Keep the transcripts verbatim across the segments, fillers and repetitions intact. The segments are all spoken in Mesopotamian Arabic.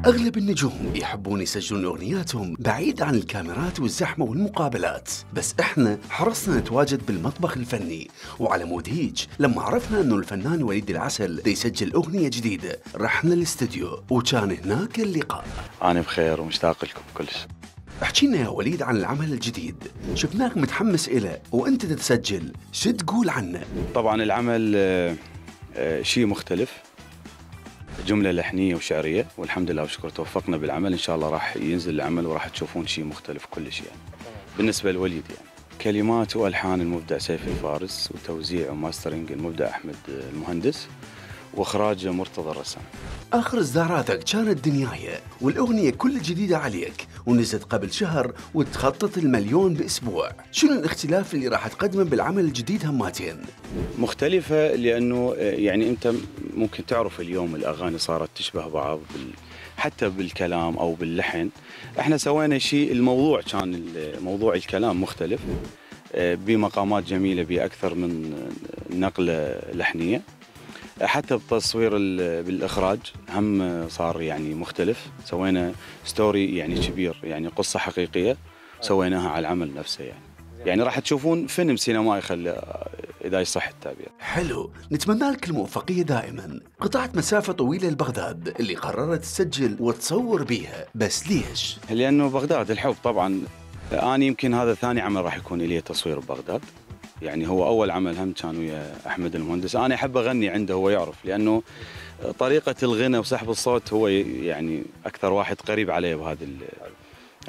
أغلب النجوم يحبون يسجلون أغنياتهم بعيد عن الكاميرات والزحمة والمقابلات، بس إحنا حرصنا نتواجد بالمطبخ الفني، وعلى مود هيج لما عرفنا أنه الفنان وليد العسل دا يسجل أغنية جديدة رحنا الاستديو وكان هناك اللقاء. أنا بخير ومشتاق لكم كلش. احكي لنا يا وليد عن العمل الجديد، شفناك متحمس إله وأنت تتسجل، شو تقول عنه؟ طبعا العمل آه، آه، شيء مختلف، جملة لحنية وشعرية، والحمد لله وشكر توفقنا بالعمل. إن شاء الله راح ينزل العمل وراح تشوفون شيء مختلف كلش يعني. بالنسبة لوليد يعني كلمات وألحان المبدع سيف الفارس، وتوزيع وماسترينج المبدع أحمد المهندس، واخراج مرتضى الرسام. آخر إصداراتك كانت دنيايا، والأغنية كل جديدة عليك ونزلت قبل شهر وتخطط المليون بأسبوع، شنو الاختلاف اللي راح تقدمه بالعمل الجديد هماتين؟ مختلفة لأنه يعني أنت ممكن تعرف اليوم الأغاني صارت تشبه بعض بال... حتى بالكلام أو باللحن. احنا سوينا شيء، الموضوع كان موضوع الكلام مختلف بمقامات جميلة بأكثر من نقلة لحنية، حتى بالتصوير بالإخراج هم صار يعني مختلف. سوينا ستوري يعني كبير، يعني قصة حقيقية سويناها على العمل نفسه يعني. يعني راح تشوفون فيلم سينمائي خلى إذا يصح التعبير. حلو، نتمنى لك الموفقية دائما. قطعت مسافة طويلة لبغداد اللي قررت تسجل وتصور بيها، بس ليش؟ لأنه بغداد الحب طبعا. أنا يمكن هذا ثاني عمل راح يكون لي تصوير ببغداد، يعني هو أول عمل هم كان ويا أحمد المهندس. أنا أحب أغني عنده، هو يعرف، لأنه طريقة الغنى وسحب الصوت هو يعني أكثر واحد قريب عليه بهذه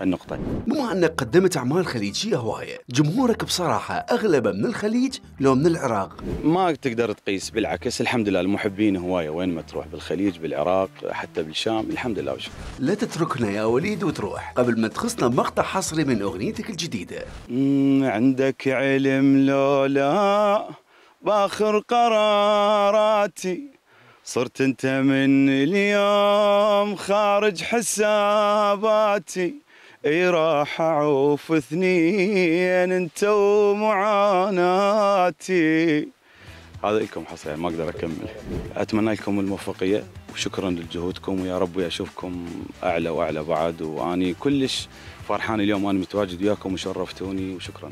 النقطة. بما أنك قدمت أعمال خليجية هواية، جمهورك بصراحة أغلبه من الخليج لو من العراق؟ ما تقدر تقيس، بالعكس الحمد لله المحبين هواية وين ما تروح، بالخليج بالعراق حتى بالشام، الحمم لله وشكرا. لا تتركنا يا وليد وتروح قبل ما تخصنا مقطع حصري من أغنيتك الجديدة. عندك علم لو لا باخر قراراتي، صرت انت من اليوم خارج حساباتي، اي راح اعوف اثنين انت ومعاناتي. هذا لكم حصري يعني ما اقدر اكمل. اتمنى لكم الموفقيه وشكرا لجهودكم، ويا رب اشوفكم اعلى واعلى بعد. واني كلش فرحان اليوم انا متواجد وياكم وشرفتوني، وشكرا.